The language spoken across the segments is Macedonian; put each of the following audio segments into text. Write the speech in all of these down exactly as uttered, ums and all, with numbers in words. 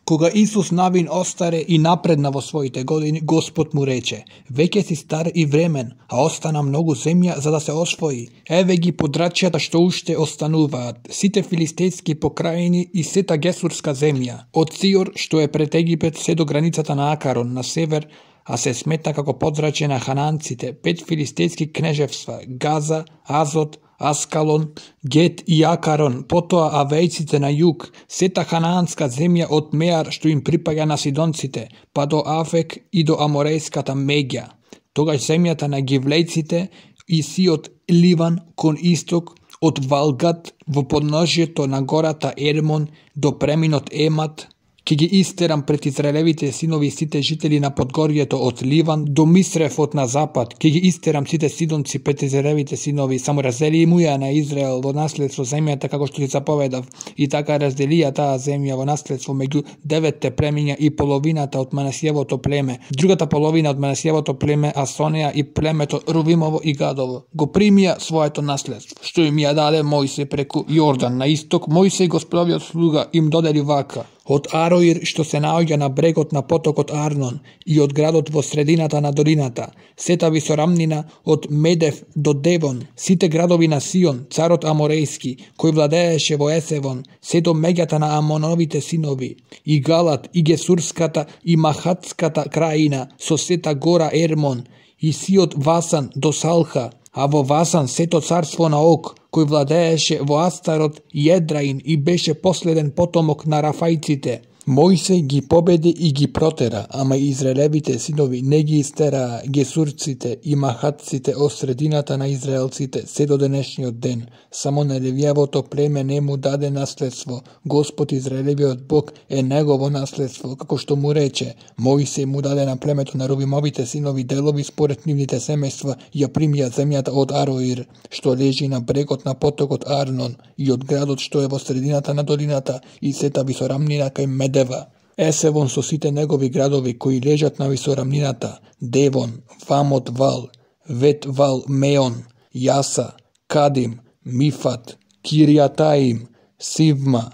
Кога Исус навин остаре и напредна во своите години, Господ му рече: веќе си стар и времен, а остана многу земја за да се освои. Еве ги подрачјата што уште остануваат, сите филистејски покрајини и сета гесурска земја, од Сиор што е пред Египет се до границата на Акарон на север, а се сметна како подрачје на хананците, пет филистејски кнежевства: Газа, Азот, Аскалон, Гет и Акарон, потоа авејците на југ, сета ханаанска земја од Меар што им припаѓа на сидонците, па до Афек и до аморејската Меѓа. Тогаш земјата на гивлејците и сиот Ливан кон исток, од Валгат во подножјето на гората Ермон до преминот Емат, ќе ги истерам пред израелевите синови сите жители на подгорјето од Ливан до Мисрефот на запад, ќе ги истерам сите сидонци пред израелевите синови, само раздели му ја на Израел во наследство земјата како што ти заповедав, и така разделија таа земја во наследство меѓу деветте племиња и половината од Манасиевото племе, другата половина од Манасиевото племе Асонеја и племето Рувимово и Гадово го примија своето наследство, што им ја даде Мојсей преку Јордан на исток. Мојсей Господовиот слуга им додели вака: од Ароир што се наоѓа на брегот на потокот Арнон и од градот во средината на долината, сета висорамнина од Медев до Девон, сите градови на Сион, царот Аморејски, кој владееше во Есевон, се до меѓата на Амоновите синови, и Галат, и Гесурската, и Махатската краина, со сета гора Ермон, и сиот Васан до Салха, а во Васан сето царство на Ог, кој владееше во Астарот и Едраин и беше последен потомок на Рафајците. Мојсей ги победи и ги протера, ама израелевите синови не ги истераа гесурците и махатците од средината на израелците се до денешниот ден. Само на Левиевото племе не му даде наследство. Господ Израелевиот Бог е негово наследство, како што му рече. Мојсей му даде на племето на Рувимовите синови делови според нивните семејства, ја примија земјата од Ароир, што лежи на брегот на потокот Арнон, и од градот што е во средината на долината, и сета висорамнина кај Медева. Есевон со сите негови градови кои лежат на висорамнината, Девон, Вамот Вал, Вет Вал Меон, Јаса, Кадим, Мифат, Киријатаим, Сивма,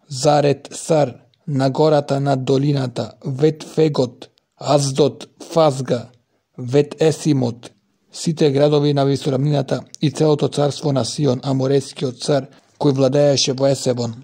Зарет Сар, на гората над долината, Вет Фегот, Аздот, Фазга, Вет Есимот, сите градови на висорамнината и целото царство на Сион, аморејскиот цар, кој владееше во Есевон.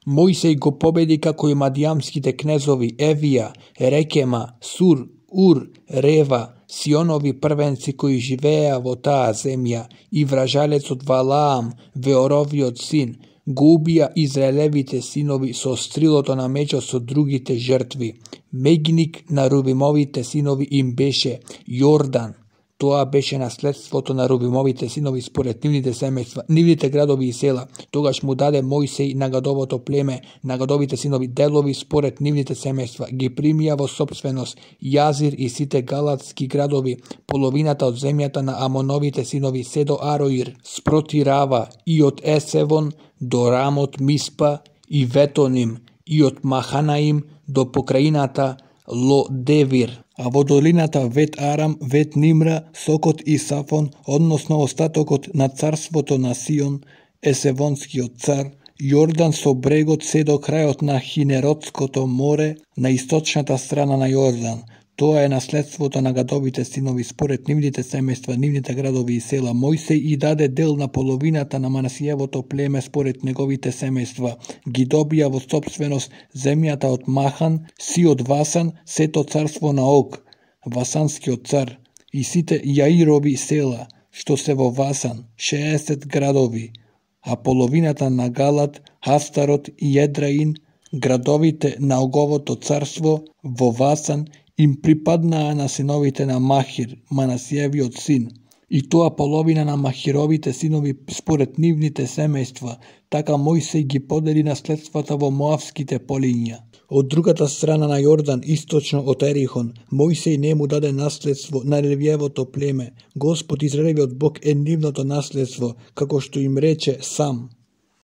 Мојсей го победи како и мадијамските кнезови Евија, Рекема, Сур, Ур, Рева, Сионови првенци кои живееа во таа земја, и вражалецот Валаам, Веоровиот син, го убија израелевите синови со стрилото на мечот со другите жртви. Меѓник на Рувимовите синови им беше Јордан. Тоа беше наследството на Рувимовите синови според нивните семејства, нивните градови и села. Тогаш му даде Мојсей на Гадовото племе, на Гадовите синови делови според нивните семејства. Ги примија во собственост Јазир и сите галатски градови, половината од земјата на Амоновите синови се до Ароир, спроти Рава, и од Есевон до Рамот Миспа и Ветоним, и од Маханаим до покраината Ло-Девир, а во долината Вет Арам, Вет Нимра, Сокот и Сафон, односно остатокот на царството на Сион, Есевонскиот цар, Јордан со брегот се до крајот на Хинеротското море на источната страна на Јордан. Тоа е наследството на Гадовите синови според нивните семејства, нивните градови и села. Мојсей и даде дел на половината на Манасиевото племе според неговите семејства. Ги добија во собственост земјата од Махан, си од Васан, сето царство на Ог, Васанскиот цар, и сите Јаирови села, што се во Васан, шеесет градови, а половината на Галат, Астарот и Едраин, градовите на Оговото царство во Васан, им припаднаа на синовите на Махир, Манасиевиот син, и тоа половина на Махировите синови според нивните семејства. Така Мојсей ги подели наследствата во Моавските полиња. Од другата страна на Јордан, источно од Ерихон, Мојсей не му даде наследство на Левиевото племе. Господ Израелевиот Бог е нивното наследство, како што им рече сам.